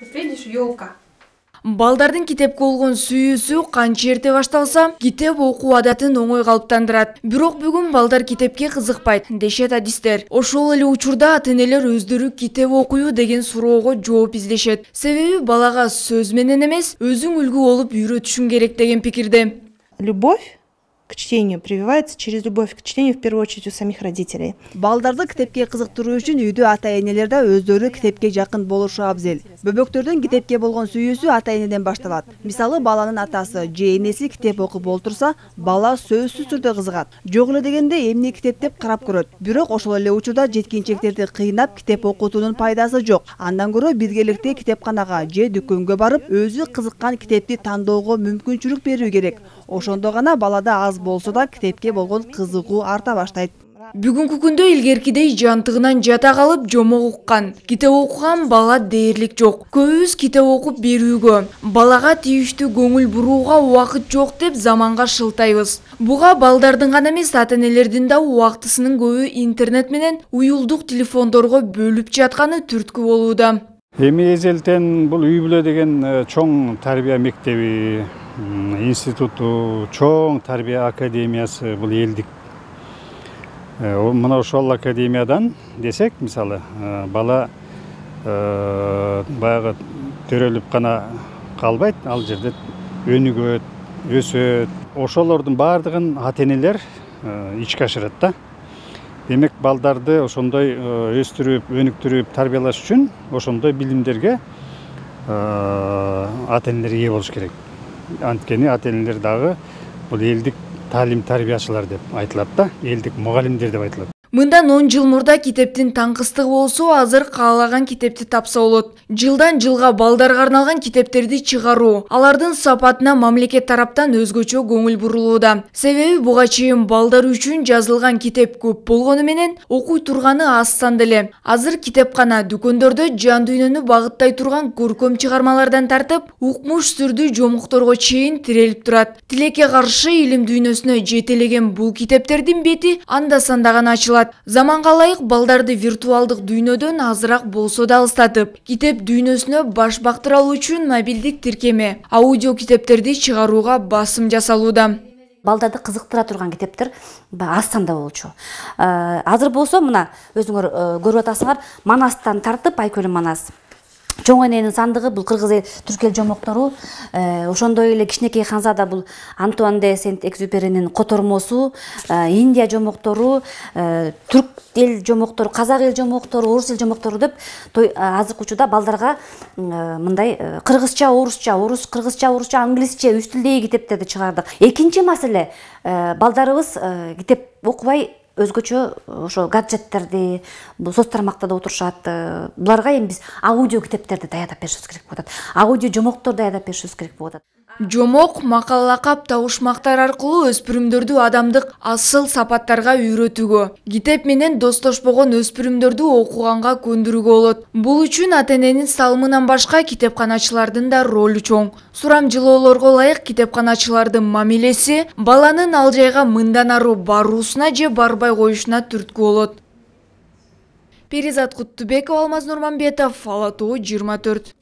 Видишь, елка. Балдардын китепке болгон сүйүүсү канча эрте башталса, китеп окуу адатын оңой калыптандырат. Бирок бүгүн балдар китепке кызыкпайт, дешет адистер. Ошол эле учурда ата-энелер өздөрү китеп окуйбу деген суроого жооп издешет. Себеби балага сөз менен эмес, өзүң үлгү болуп үйрөтүшүң керек деген пикирде. Любовь к чтению прививается через любовь к чтению в первую очередь у самих родителей. Балдарды китепке кызыктыруу үчүн үйдө ата-энелер да өздөрү китепке жакын болушу абзел. Бөбөктөрдүн китепке болгон сүйүүсү ата-энеден башталат. Мисалы, баланын атасы же энеси китеп окуп олтурса, бала сөзсүз түрдө кызыгат. Жок эле дегенде эмне китеп деп карап көрөт. Бирок ошол эле учурда жеткинчектерди кыйнап китеп окутуунун пайдасы жок. Андан көрө биргеликте китепканага же дүкөнгө барып, өзү кызыккан китепти тандоого мүмкүнчүлүк берүү керек. Ошондо гана балада аз болсо да китепке болгон кызыгуу арта баштайт. Бүгүнкү күндө илгеркидей жантыгынан жата калып жомок уккан, китеп окуган бала дээрлик жок. Көбүбүз китеп окуп берүүгө, балага тийиштүү көңүл бурууга убакыт жок деп заманга шылтайбыз. Буга балдардын гана эмес, ата-энелердин да убактысынын көбү интернет менен уюлдук телефондорго бөлүп жатканы түрткү болууда. Эми эзелтен бул үй бүлө деген чоң тарбия мектеби, институту, чоң тарбия академиясы бул элдик. Мына ошол академиядан десек, мисалы, бала баягы төрөлүп гана калбайт, ал жерде өнүгөт, өсөт. Ошолордун баардыгын ата-энелер ичке ашырат да. Демек, балдарды ошондой өстүрүп, өнүктүрүп, тарбиялаш үчүн ошондой билимдерге ата-энелер ээ болуш керек. Анткени ата-энелер дагы бул элдик таалим тарбиячылар деп айтылат да, элдик мугалимдер деп айтылат. Мындан 10 жыл мурда китептин таңкыстыгы болсо, азыр каалаган китепти тапса болот. Жылдан жылга балдарга арналган китептерди чыгаруу, алардын сапатына мамлекет тараптан өзгөчө көңүл бурулууда. Себеби буга чейин балдар үчүн жазылган китеп көп болгону менен окуй турганы аз санда эле. Азыр китепкана, дүкөндөрдө жан дүйнөнү багыттай турган көркөм чыгармалардан тартып, укмуш сүрдүү жомокторго чейин тирелип турат. Тилекке каршы илим дүйнөсүнө жетелеген бул китептердин бети анда-санда гана ачылат. Заманга ылайык балдарды виртуалдык дүйнөдөн азыраак болсо да алыстатып, китеп дүйнөсүнө баш бактыра алуу үчүн мобилдик тиркеме, аудио китептерди чыгарууга басым жасалууда. Балдарды кызыктыра турган китептер аз санда болчу. Азыр болсо мына өзүңөр көрүп атасыңар, Манастан тартып Айкөлү Манас. Чоң эненин сандыгы бул кыргыз түрк эл жомоктору, ошондой эле Кичинекей Ханзада бул Антуан де Сент-Экзюперинин котормосу, Индия жомоктору, түрк эл жомоктору, казак эл жомоктору, орус эл жомоктору деп азыркы учурда балдарга мындай кыргызча, кыргызча, орусча, англисче үч тилдеги китептерди чыгардык. Экинчи маселе, балдарыбыз китеп окубай өзгөчө ошо гаджеттерди, соц тармактарда отурушат. Буларга эми биз аудио китептерди даярдап беришибиз керек болот. Аудио жомокторду даярдап беришибиз керек болот. Жомок, макал, лакап, табышмактар аркылуу өспүрүмдөрдү адамдык асыл сапаттарга үйрөтүүгө, китеп менен достошпогон өспүрүмдөрдү окуганга көндүрүүгө болот. Бул үчүн ата-эненин салымынан башка китепканачылардын да ролу чоң. Сурамжылоолорго ылайык китепканачылардын мамилеси баланын ал жайга мындан ары баруусуна же барбай коюшуна түрткү болот. Перизат Куттубекова, Алмаз Нурманбетов, Ала Тоо 24.